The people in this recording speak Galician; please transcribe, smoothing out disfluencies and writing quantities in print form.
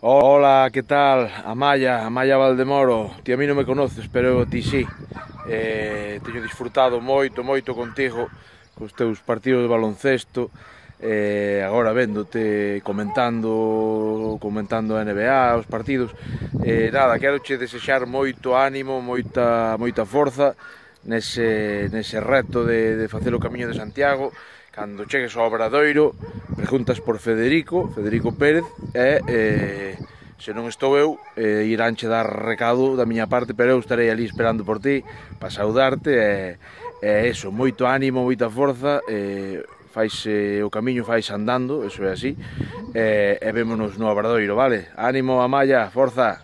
Hola, que tal? Amaya Valdemoro. Ti a mí non me conoces, pero ti sí. Teño disfrutado moito contigo cos teus partidos de baloncesto. Agora véndote comentando a NBA, os partidos. Nada, quero che desexar moito ánimo, moita forza nese reto de facer o Camiño de Santiago. Cando chegues ao Obradoiro, preguntas por Federico Pérez, se non estou eu, iránche dar recado da miña parte, pero eu estarei ali esperando por ti para saudarte eso, moito ánimo, moita forza, o camiño fais andando, eso é así, e vémonos no Obradoiro, vale? Ánimo, Amaya, forza!